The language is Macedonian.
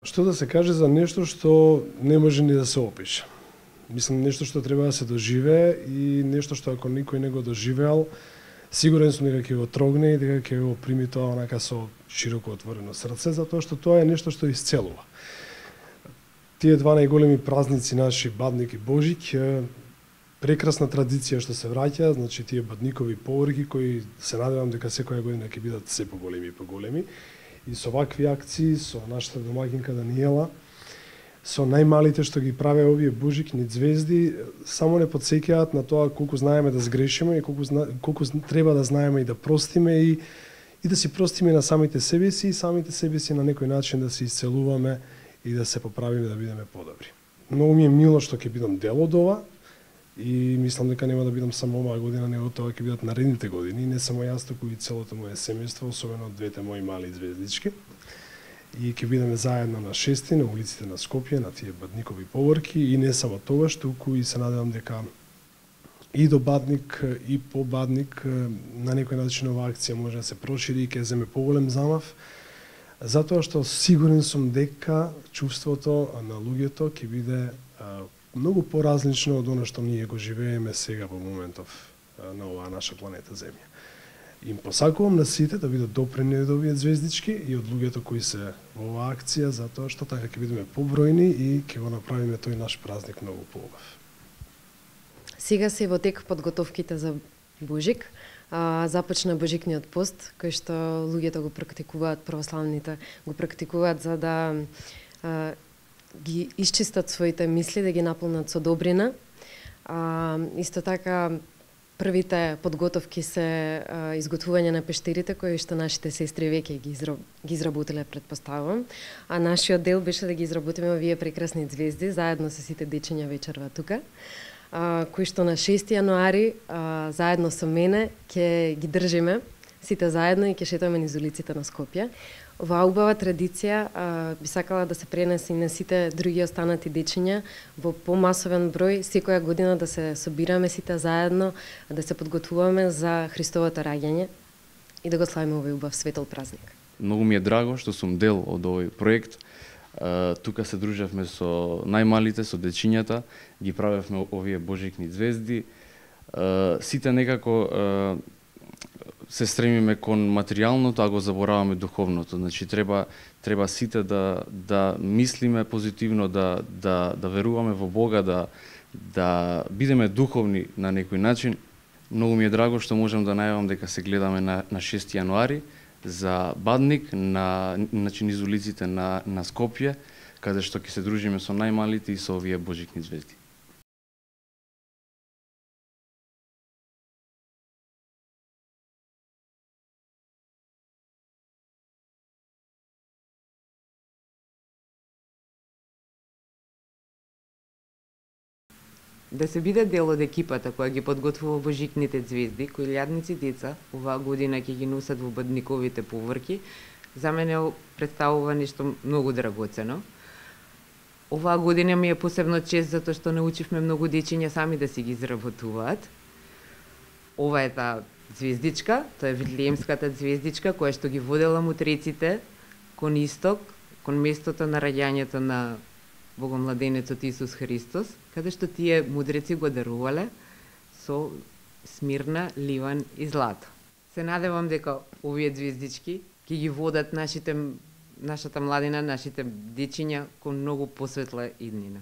Што да се каже за нешто што не може ни да се опише. Мислам, нешто што треба да се доживее и нешто што ако никој не го доживеал, сигурен сум дека ќе го трогне и дека ќе го прими тоа онака со широко отворено срце, затоа што тоа е нешто што исцелува. Тие два најголеми празници наши, Бадник и Божик, прекрасна традиција што се враќа, значи тие бадникови поворки кои се надевам дека секоја година ќе бидат се поголеми и поголеми. И со вакви акции, со нашата домаќинка Даниела, со најмалите што ги праве овие божикни звезди, само не потсеќаат на тоа колку знаеме да сгрешиме и колку треба да знаеме и да простиме и да си простиме на самите себе си и самите себе си на некој начин да се исцелуваме и да се поправиме да бидеме подобри. Многу ми е мило што ќе бидам дел од ова и мислам дека нема да бидам само оваа година, него тоа ќе бидат наредните години, не само јас, туку и целото моје семејство, особено двете мои мали звездички. И ќе бидеме заедно на 6 на улиците на Скопје, на тие бадникови поворки и не само тоа, туку и се надевам дека и до Бадник и по Бадник на некој начин оваа акција може да се прошири и ќе земе поголем замав, затоа што сигурен сум дека чувството на луѓето ќе биде многу поразлично од она што ние го живееме сега во моментов на оваа наша планета Земја. Им посакувам на сите да бидат допрени од овие звездички и од луѓето кои се во оваа акција, затоа што така ќе бидеме побројни и ќе го направиме тој наш празник многу поубав. Сега се во тек подготовките за Божик. Започна Божикниот пост, кој што луѓето го практикуваат, православните го практикуваат за да ги исчистат своите мисли, да ги наполнат со добрина. Исто така, првите подготовки се изготвување на пештерите, кои што нашите сестри веќе ги изработиле, предпоставувам. А нашиот дел беше да ги изработиме овие прекрасни звезди, заедно со сите дечиња вечерва тука, кои што на 6 јануари, заедно со мене, ќе ги држиме сите заедно и ќе шетаме низ улиците на Скопје. Оваа убава традиција би сакала да се пренесе и на сите други останати дечиња во помасовен број, секоја година да се собираме сите заедно, да се подготвуваме за Христовото раѓање и да го славиме овој убав светол празник. Многу ми е драго што сум дел од овој проект. Тука се дружевме со најмалите, со дечињата, ги правевме овие божикни звезди. Сите некако се стремиме кон материјалното, а го забораваме духовното. Значи треба сите да мислиме позитивно, да веруваме во Бога, да бидеме духовни на некој начин. Многу ми е драго што можам да најавам дека се гледаме на 6 јануари за Бадник на низ улиците на Скопје, каде што ќе се дружиме со најмалите и со овие божикни звезди. Да се биде дел од екипата која ги подготвува божикните звезди, кои илјадници деца оваа година ќе ги носат во бадниковите поворки, за мене представува нешто многу драгоцено. Оваа година ми е посебно чест затоа што научивме многу дечиња сами да си ги изработуваат. Ова е таа звездичка, тоа е Витлеемската звездичка која што ги водела мутреците кон исток, кон местото на раѓањето на Богомладенецот Исус Христос, каде што тие мудреци го дарувале со смирна, ливан и злато. Се надевам дека овие звездички ќе ги водат нашата младина, нашите дечиња кон многу посветла иднина.